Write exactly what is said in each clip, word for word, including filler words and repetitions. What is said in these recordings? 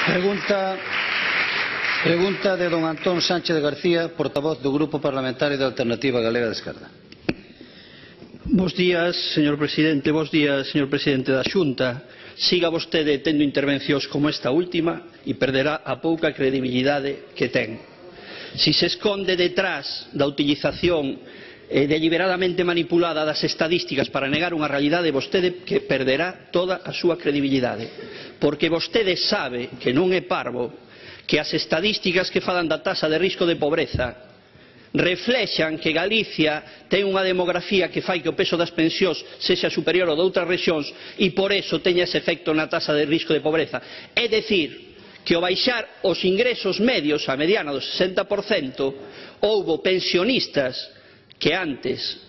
Pregunta, pregunta de don Antón Sánchez García, portavoz do Grupo Parlamentario da Alternativa Galega de Esquerda. Bos días, señor presidente. Bos días, señor presidente da Xunta. Siga vostede tendo intervencións como esta última e perderá a pouca credibilidade que ten. Si se esconde detrás da utilización eh, deliberadamente manipulada das estadísticas para negar unha realidade, vostede que perderá toda a súa credibilidade. Porque vostede sabe que non é parvo que as estadísticas que falan da taxa de risco de pobreza reflexan que Galicia ten unha demografía que fai que o peso das pensións sexa superior ao de outras rexións e por eso teña ese efecto na taxa de risco de pobreza. É dicir, que ao baixar os ingresos medios a mediana do sesenta por cento houbo pensionistas que antes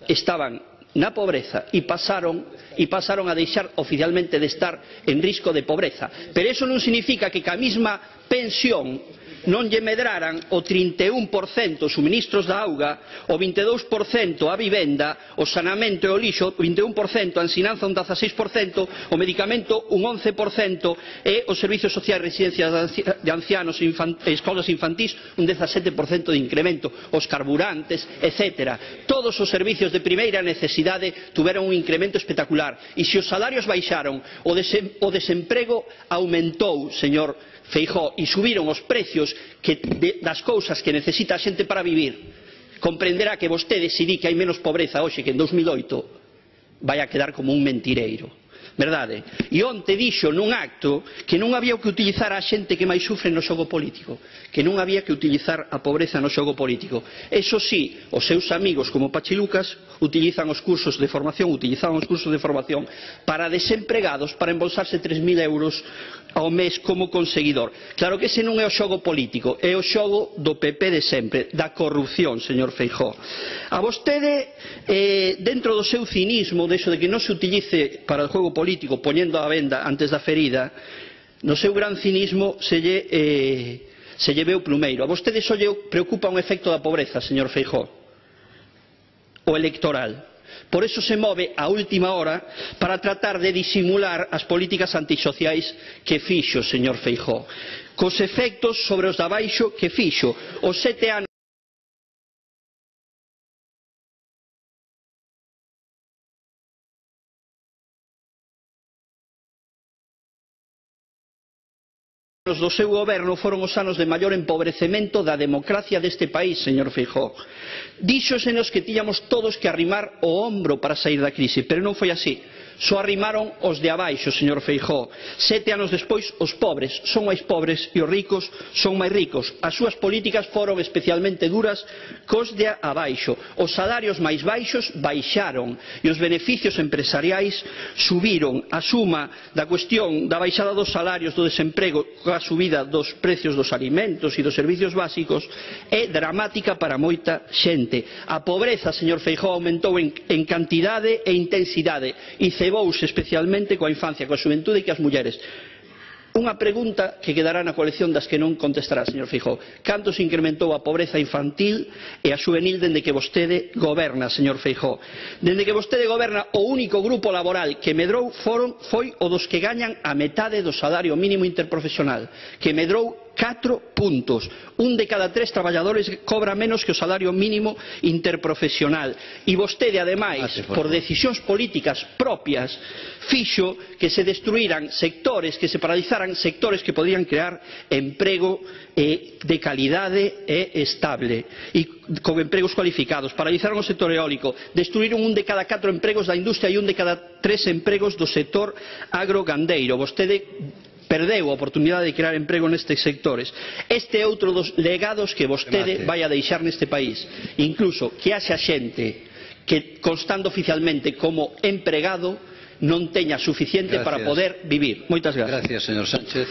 estaban na pobreza e pasaron, e pasaron a deixar oficialmente de estar en risco de pobreza. Pero eso non significa que ca mesma pensión non lle medraran o trinta e un por cento os suministros da auga, o vinte e dous por cento a vivenda, o saneamento e o lixo, o vinte e un por cento, a ensinanza un dezaseis por cento, o medicamento un once por cento e os servicios sociais, residencias de ancianos e escolas infantís un dezasete por cento de incremento, os carburantes, etcétera. Todos os servicios de primeira necesidade tuveron un incremento espectacular. E se os salarios baixaron, o desemprego aumentou, señor Feijóo, e subiron os precios que, de, das cousas que necesita a xente para vivir, comprenderá que vostede, se di que hai menos pobreza hoxe que en dos mil oito, vai a quedar como un mentireiro. Verdade? E onte dixo nun acto que non había que utilizar a xente que máis sufre no xogo político, que non había que utilizar a pobreza no xogo político. Eso sí, os seus amigos como Pachi Lucas utilizan os cursos de formación, utilizaban os cursos de formación para desempregados, para embolsarse tres mil euros ao mes como conseguidor. Claro que ese non é o xogo político, é o xogo do P P de sempre, da corrupción, señor Feijóo. A vostede, eh, dentro do seu cinismo, de eso de que non se utilice para o xogo político, poñendo a venda antes da ferida, no seu gran cinismo se lle, eh, se lle ve o plumeiro. A vostede só lle preocupa un efecto da pobreza, señor Feijóo, o electoral. Por eso se move a última hora para tratar de disimular as políticas antisociais que fixo, señor Feijóo, cos efectos sobre os de abaixo que fixo. Os sete anos Os do seu goberno foron os anos de maior empobrecemento da democracia deste país, señor Feijóo. Díxosenos que tiñamos todos que arrimar o ombro para sair da crise, pero non foi así. Só arrimaron os de abaixo, señor Feijóo. Sete anos despois, os pobres son máis pobres e os ricos son máis ricos. As súas políticas foron especialmente duras cos de abaixo. Os salarios máis baixos baixaron e os beneficios empresariais subiron. A suma da cuestión da baixada dos salarios, do desemprego, a subida dos precios dos alimentos e dos servicios básicos é dramática para moita xente. A pobreza, señor Feijóo, aumentou en, en cantidade e intensidade e cebouse especialmente coa infancia, coa xuventude e coas mulleres. Unha pregunta que quedará na colección das que non contestará, señor Feijóo. Canto se incrementou a pobreza infantil e a juvenil dende que vostede goberna, señor Feijóo? Dende que vostede goberna, o único grupo laboral que medrou foron, foi o dos que gañan a metade do salario mínimo interprofesional, que medrou catro puntos. Un de cada tres traballadores cobra menos que o salario mínimo interprofesional. E vostede, ademais, por decisións políticas propias, fixo que se destruíran sectores, que se paralizaran sectores que podían crear emprego eh, de calidade e estable e con empregos cualificados. Paralizaron o sector eólico, destruíron un de cada catro empregos da industria e un de cada tres empregos do sector agrogandeiro. Vostede perdeu a oportunidade de crear emprego nestes sectores. Este é outro dos legados que vostede vai a deixar neste país. Incluso que haxa xente que, constando oficialmente como empregado, non teña suficiente para poder vivir. Moitas gracias. Gracias, señor Sánchez.